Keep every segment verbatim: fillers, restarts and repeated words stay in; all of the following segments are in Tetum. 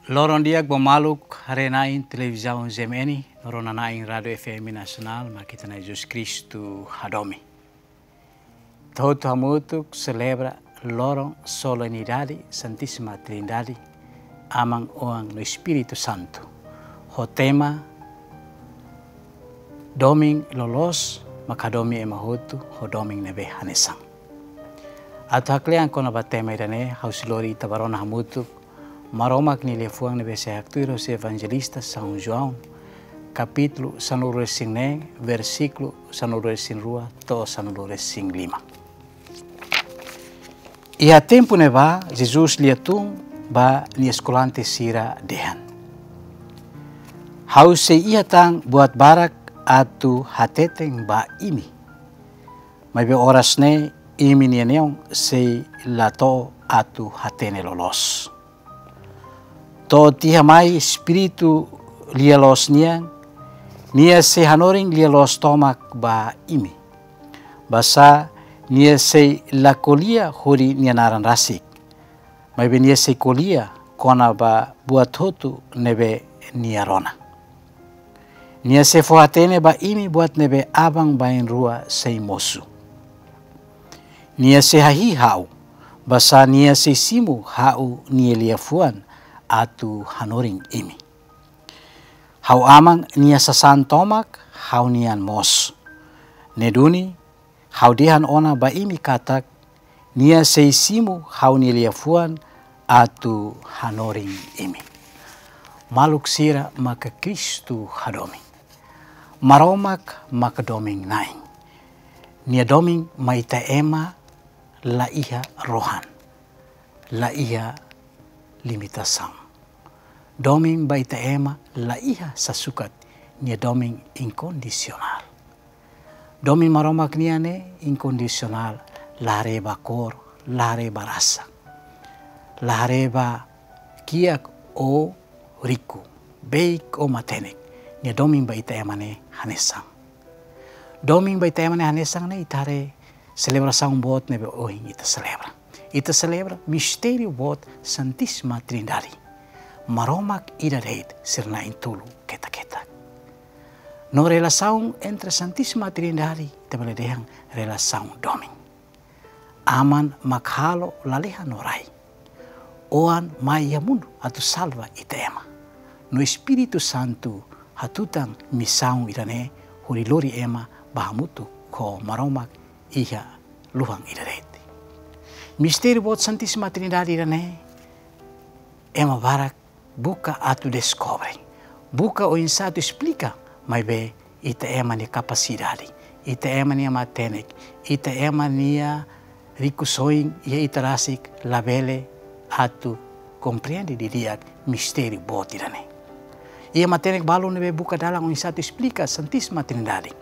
Loron di'ak ba maluk haree-na'in televizaun G M N, no rona-na'in Rádiu F M Nasionál, mak ita-nia Jesus Kristu hadomi. Ita hotu hamutuk selebra loron solenidade Santísima Trindade, Aman, Oan no Espíritu Santu. Ho tema Domin loloos mak hadomi ema hotu ho domin ne'ebé hanesan. Atu haklean kona-ba tema ida-ne'e, ha'u sei lori ita ba rona hamutuk Maromak nia liafuan ne'ebé sei haktuir hosi Evanjelista São João, kapítulu sanulu-resin-neen, versíkulu sanulu-resin-rua to'o sanulu-resin-lima. Iha tempu ne'ebá, Jesus lia tun ba nia eskolante sira dehan: Ha'u sei iha tan buat barak atu hateten ba imi. Maibé oras ne'e imi-nia neon sei la to'o atu hatene loloos. To'o tiha mai Espíritu lia-loos nian, nia sei hanorin lia-loos tomak ba imi. Basá nia sei la ko'alia hodi nia naran rasik, maibé nia sei ko'alia kona-ba buat hotu ne'ebé nia rona. Nia sei fó hatene ba imi buat ne'ebé aban-bainrua sei mosu. Nia sei hahi'i ha'u, basá nia sei simu ha'u-nia liafuan atu hanorin imi. Ha'u Aman nia sasán tomak, ha'u-nian mós. Ne'e duni, ha'u dehan ona ba imi katak, nia sei simu ha'u-nia liafuan atu hanorin imi. Maluk sira maka Kristu hadomi. Maromak maka domin-na'in. Nia domin mai ita ema la iha rohan, la iha limitasaun. Domin ba ita ema la iha sasukat, nia domin inkondisionál. Domin Maromak nian ne'e inkondisionál, la haree ba kór, la haree ba rasa, la haree ba kiak ou riku, beik ou matenek, nia domin ba ita ema ne'e hanesan. Domin ba ita ema ne'e hanesan ne'e ita haree selebrasaun boot ne'ebé ohin ita selebra. Ita selebra mistériu boot Santísima Trindade. Maromak ida de'it sira na'in-tolu ketak-ketak. No relasaun entre Santísima Trindade, ita bele dehan relasaun domin. Aman mak halo lalehan no rai. Oan mai iha mundu atu salva ita ema. No Espíritu Santu hatutan misaun ida-ne'e hodi lori ema ba hamutuk ho Maromak iha luhan ida de'it. Mistériu boot Santísima Trindade ida-ne'e, ema barak buka atu deskobre, buka oinsá atu esplika, maibé ita ema nia kapasidade, ita ema nia matenek, ita ema nia rikusoin iha ita rasik labele atu komprende didi'ak mistériu boot ida-ne'e. Iha matenek balu ne'ebé buka dalan oinsá atu esplika Santísima Trindade.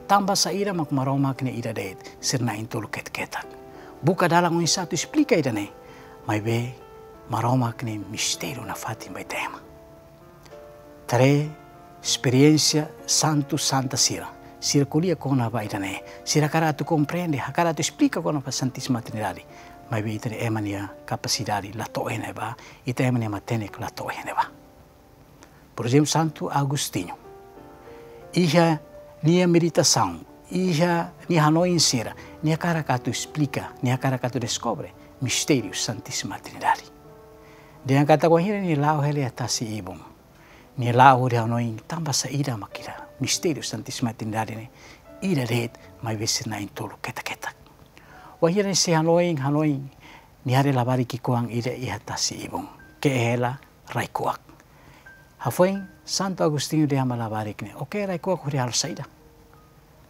Tanba saida mak Maromak ne'e ida de'it sira na'in-tolu ketak-ketak. Buka dalan oinsá atu esplika ida-ne'e, maibé Maromak ne'e mistériu nafatin ba ita ema. Haree esperiénsia santu santa sira. Sira ko'alia kona-ba ida-ne'e. Sira hakarak atu komprende, hakarak atu esplika kona-ba Santísima Trindade. Maibé ita ema nia kapasidade la to'o iha ne'ebá, ita ema nia matenek la to'o iha ne'ebá. Por ezemplu, Santu Agostinho. Iha nia meditasaun, iha nia hanoin sira, nia hakarak atu esplika, nia hakarak atu deskobre mistériu Santísima Trindade. Dehan katak wainhira nia la'o hela iha tasi-ibun, nia la'o hodi hanoin tanba saida mak ida mistériu Santísima Trindade ne'e ida de'it, maibé sira na'in-tolu ketak-ketak. Wainhira nia sei hanoin, hanoin, nia haree labarik ki'ikoan ida iha tasi-ibun. Ke'e hela rai-kuak. Hafoin Santu Agostinho dehan ba labarik ne'e: "Ó ke'e rai-kuak hodi halo saida?"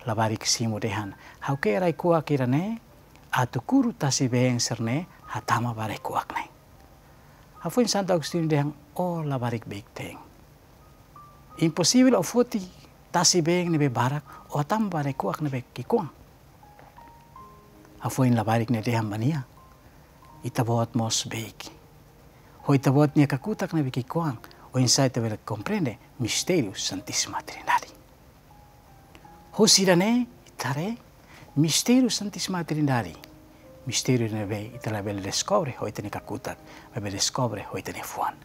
Labarik simu dehan: "Ha'u ke'e rai-kuak ida-ne'e atu kuru tasi-been sira-ne'e hatama ba rai-kuak ne'e." Hafoin Santu Agostinho dehan: "Ó labarik beik-teen. Imposivel ó foti tasi-been ne'ebé barak, ó hatama ba rai-kuak ne'ebé ki'ikoan." Hafoin labarik ne'e dehan ba nia: "Ita-boot mós beik. Ho ita-boot nia kakutak ne'ebé ki'ikoan, oinsá ita bele komprende mistériu Santísima Trindade." Husi ida-ne'e ita haree mistériu Santísima Trindade, mistériu ne'ebé ita labele deskobre ho ita-nia kakutak, maibé deskobre ho ita-nia fuan.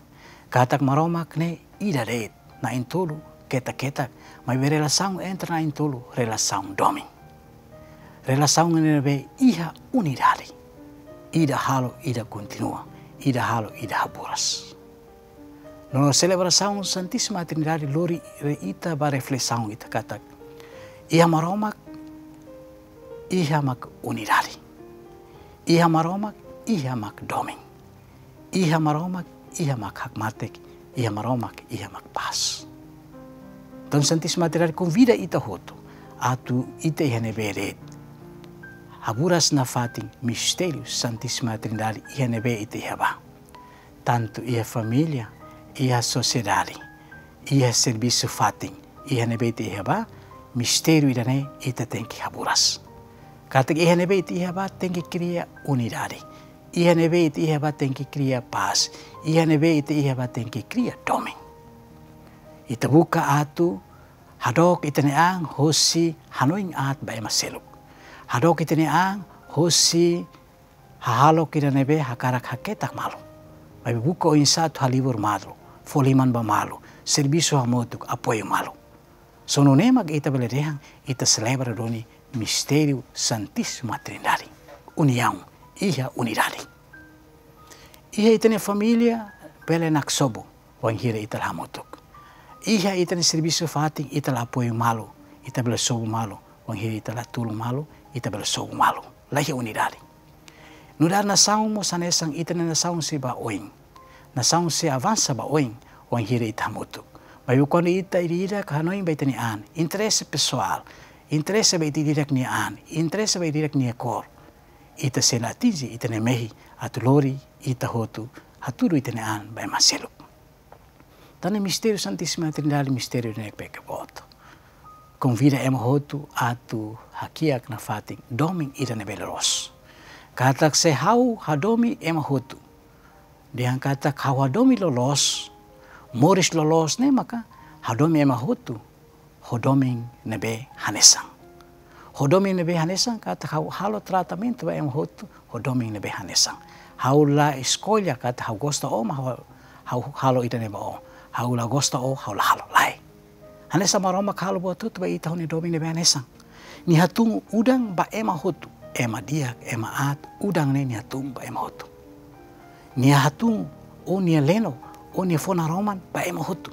Katak Maromak ne'e ida de'it, na'in-tolu ketak-ketak, maibé relasaun entre na'in-tolu, relasaun domin. Relasaun ne'ebé iha unidade. Ida halo, ida kontinua, ida halo, ida haburas. No selebrasaun Santísima Trindade lori ita ba reflesaun ita katak iha Maromak, iha mak unidade. Iha Maromak, iha mak domin. Iha Maromak, iha mak hakmatek, iha Maromak, iha mak pás. Entaun Santísima Trindade konvida ita hotu atu ita iha ne'ebé de'it haburas nafatin mistériu Santísima Trindade iha ne'ebé ita iha ba. Tantu iha família, iha sosiedade, iha servisu fatin, iha ne'ebé ita iha ba, mistériu ida-ne'e ita tenke haburas. Katak iha ne'ebé ita iha ba tenke kria unidade. Iha ne'ebé ita iha ba tenke kria pás. Iha ne'ebé ita iha ba tenke kria domin. Ita buka atu hadook ita-nia an hosi hanoin aat ba ema seluk. Hadook ita-nia an hosi hahalok ida ne'ebé hakarak haketak malu. Maibé buka oinsá atu halibur malu, fó liman ba malu, servisu hamutuk, apoiu malu. Só nune'e mak ita bele dehan ita selebra duni mistériu Santísima Trindade. Uniaun, iha unidade. Iha ita-nia família bele naksobu wainhira ita la hamutuk. Iha ita-nia servisu fatin ita la apoiu malu, ita bele sobu malu, wainhira ita la tulun malu, ita bele sobu malu. La iha unidade. Nu'udar nasaun mós hanesan, ita-nia nasaun sei ba oin. Nasaun sei avansa ba oin, wainhira ita hamutuk. Maibé kuandu ita ida-idak hanoin ba ita-nia an, interese pesoál, interese ba ita ida-idak nia an, interese ba ita ida-idak nia kór, ita sei la atinje ita-nia mehi atu lori ita hotu hatudu ita-nia an ba ema seluk. Tan ne'e mistériu Santísima Trindade, mistériu ne'ebé ke boot. Konvida ema hotu atu hakiak nafatin domin ida ne'ebé loloos. Katak se ha'u hadomi ema hotu, dehan katak ha'u hadomi loloos, moris loloos ne'e maka hadomi ema hotu ho domin ne'ebé hanesan. Ho domin ne'ebé hanesan katak ha'u halo tratamentu ba ema hotu ho domin ne'ebé hanesan. Ha'u la eskolla katak ha'u gosta ó mak ha'u, ha'u halo ida-ne'e ba ó. Ha'u la gosta ó, ha'u la halo, lae. Hanesan Maromak halo buat hotu ba ita ho nia domin ne'ebé hanesan. Nia hatun udan ba ema hotu, ema di'ak, ema aat, udan ne'e nia hatun ba ema hotu. Nia hatun ó-nia leno, ó-nia fó naroman ba ema hotu.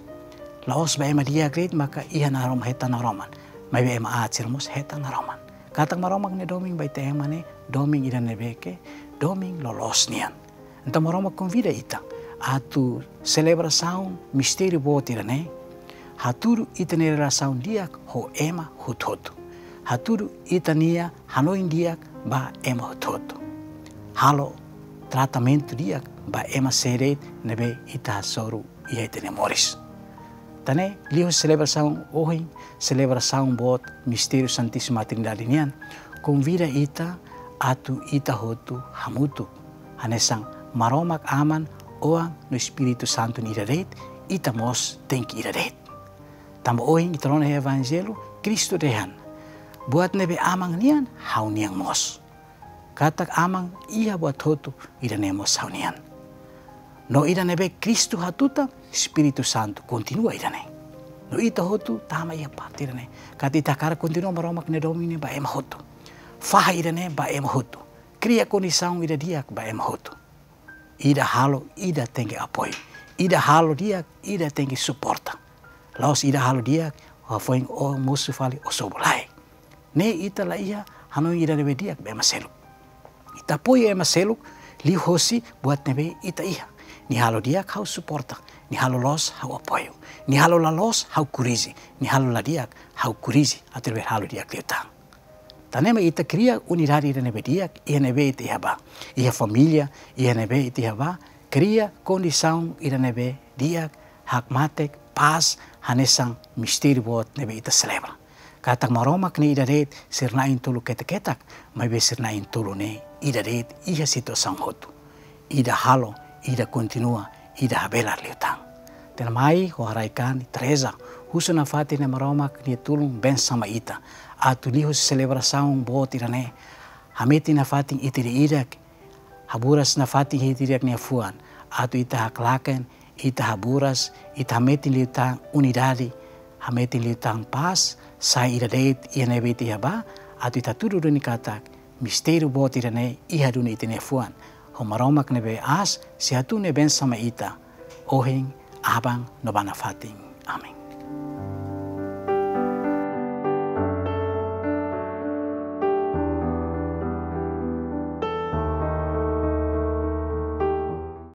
La'ós ba ema di'ak de'it maka iha narom-, hetan naroman. Maibé ema aat sira mós hetan naroman. Katak Maromak nia domin ba ita ema ne'e domin ida ne'ebé ke domin loloos nian. Entaun Maromak konvida ita atu selebrasaun mistériu boot ida-ne'e, hatudu ita-nia relasaun di'ak ho ema hotu-hotu. Hatudu ita-nia hanoin di'ak ba ema hotu-hotu. Halo tratamentu di'ak ba ema sé de'it ne'ebé ita hasoru iha ita-nia moris. Tan ne'e liuhusi selebrasaun ohin, selebrasaun boot mistériu Santísima Trindade nian, konvida ita atu ita hotu hamutuk. Hanesan Maromak Aman, Oan no Espíritu Santu nia ida de'it, ita mós tenke ida de'it. Tanba ohin ita rona iha Evanjellu, Kristu dehan: Buat ne'ebé Aman nian, ha'u-nian mós. Katak Aman iha buat hotu, ida-ne'e mós ha'u-nian. No ida ne'ebé Kristu hatutan, Espíritu Santu kontinua ida-ne'e. No ita hotu tama iha parte ida-ne'e. Katak ita hakarak kontinua Maromak nia domin ne'e ba ema hotu. Fahe ida-ne'e ba ema hotu. Kria kondisaun ida di'ak ba ema hotu. Ida halo, ida tenke apoiu. Ida halo di'ak, ida tenke suporta. La'ós ida halo di'ak, hafoin ó mosu fali ó sobu, lae. Ne'e ita la iha hanoin ida ne'ebé di'ak ba ema seluk. Ita apoiu ema seluk liuhosi buat ne'ebé ita iha. Nia halo di'ak ha'u suporta, nia halo loos ha'u apoiu. Nia halo la loos ha'u korrije, nia halo la di'ak ha'u korrije atu bele halo di'ak liután. Tan ne'e mak ita kria unidade ida ne'ebé di'ak iha ne'ebé ita iha ba. Iha família, iha ne'ebé ita iha ba, kria kondisaun ida ne'ebé di'ak, hakmatek, pás, hanesan mistériu boot ne'ebé ita selebra. Katak Maromak ne'e ida de'it, sira na'in-tolu ketak-ketak, maibé sira na'in-tolu ne'e ida de'it iha situasaun hotu. Ida halo, ida kontinua, ida habelar liután. Tiha ona mai ho haraik-an ita reza, husu nafatin Nai Maromak nia tulun bensaun mai ita, atu liuhusi selebrasaun boot ida-ne'e, hametin nafatin ita ida-idak, haburas nafatin ita ida-idak nia fuan, atu ita haklaken ita haburas, ita hametin liután unidade, hametin liután pás, sai ida de'it iha ne'ebé ita iha ba, atu ita hatudu duni katak mistériu boot ida-ne'e iha duni ita-nia fuan. Ho Maromak ne'ebé aas sei hatudu nia bensaun mai ita ohin, aban no ba nafatin. Amen.